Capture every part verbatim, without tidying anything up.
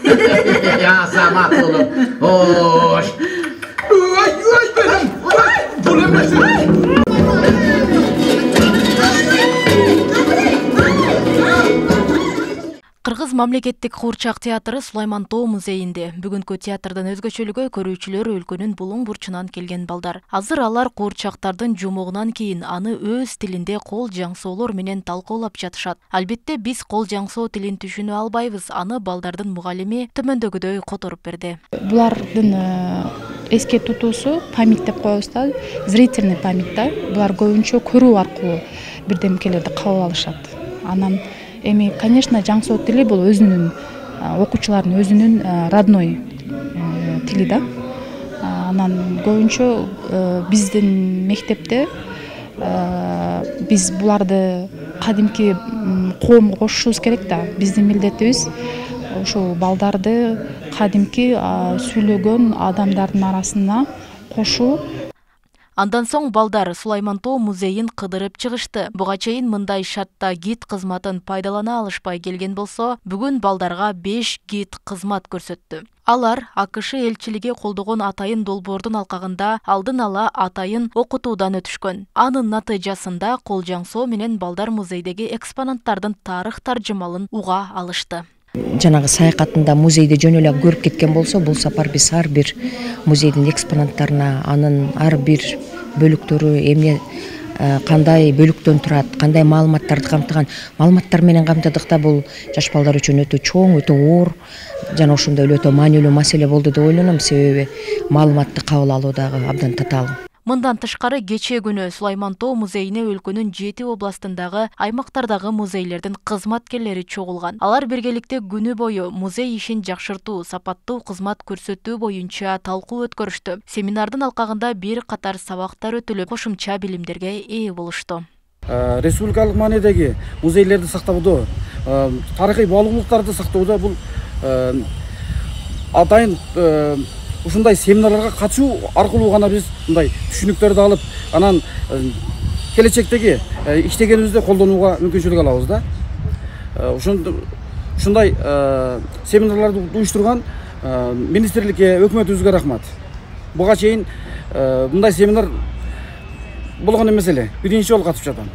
Азамат улум. Ош. Ой, ой, benim. Bul emesi. Кыргыз мамлекеттик куурчак театры Сулайман Тоо музейинде. Бүгүнкү театрдын өзгөчөлүгү көрүүчүлөр өлкөнүн булуң бурчунан келген балдар. Азыр алар куурчактардын жумугунан кийин аны өз тилинде кол жаңсоолор менен талкуулап жатышат. Албетте биз кол жаңсоо тилин түшүнө албайбыз. Аны балдардын мугалими төмөндөгүдөй которуп берди. Булардын эске тутуусу память деп коебуз да, зрительный память да. Булар көбүнчө көрүү аркылуу бирдемкелерди кабыл алышат. Анан эми, конечно, жаңсоо тили бул өзүнүн окуучулардын өзүнүн родной тили да. Анан көбүнчө биздин мектепте биз буларды кадимки коомго кошушубуз керек да. Биздин милдетибиз ошол балдарды кадимки сүйлөгөн адамдардын арасына кошуу. Андан соң балдар Сулайман Тоо музейин кыдырып чыгышты. Буга чейин мындай шартта гид кызматын пайдалана алышпай келген болсо, бүгүн балдарга беш гид кызмат көрсөттү. Алар АКШ элчилиги колдогон атайын долбоордун алкагында алдын ала атайын окутуудан өтүшкөн. Анын натыйжасында кол жаңсоо менен балдар музейдеги экспонаттардын тарых таржымалын уга алышты. Жанагы саякатында музейди жөн эле көрүп кеткен болсо, бул сапар биз ар бир музейдин экспонаттарына, анын ар бир бөлүктөрү эмне кандай бөлүктөн турат, кандай маалыматтарды камтыган, маалыматтар менен камтыдык да. Бул жаш балдар үчүн өтө чоң, өтө оор жана ошондой эле өтө маанилүү маселе болду деп ойлоном, себеби маалыматты кабыл алуу дагы абдан татаал. Мындан тышкары кечээ күнү Сулайман Тоо музейине өлкөнүн жети областындагы аймактардагы музейлердин кызматкерлери чогулган. Алар биргеликте күнү бою музей ишин жакшыртуу, сапаттуу кызмат көрсөтүү боюнча талкуу өткөрүштү. Семинардын алкагында бир катар сабактар өтүлүп, кошумча билимдерге ээ болушту. Республикалык маанидеги музейлерди сактоодо, тарыхый баалуулуктарды сактоодо бул атайын ушундай семинарларга катышуу аркылуу гана биз мындай түшүнүктөрдү алып, анан келечектеги иштегенибизде колдонууга мүмкүнчүлүк алабыз да. Ушундай семинарларды уюштурган министрликке, өкмөтүбүзгө рахмат. Буга чейин мындай семинар болгон эмес эле. Биринчи жолу катышып жатам.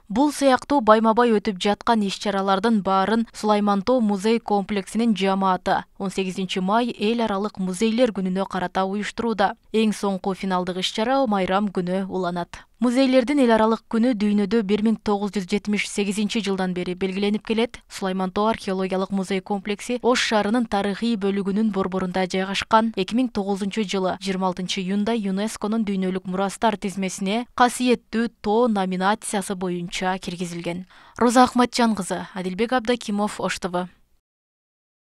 Бул сыяктуу байма-бай өтүп жаткан иш-чаралардын баарын Сулайман Тоо музей комплексинин жамааты он сегизинчи май эл аралык музейлер күнүнө карата уюштурууда. Эң соңку финалдык иш-чара майрам күнү уланат. Музейлердин эл аралык күнү дүйнөдө бир миң тогуз жүз жетимиш сегизинчи жылдан бери белгиленип келет. Сулайман Тоо археологиялык музей комплекси Ош шаарынын тарыхый бөлүгүнүн борборунда жайгашкан. эки миң тогузунчу жылы жыйырма алтынчы июнда ЮНЕСКОнун дүйнөлүк мурастар тизмесине касиеттүү Тоо номинациясы боюнча киргизилген. Роза Ахматжан кызы, Адилбек Абдакимов, Ош ТВ.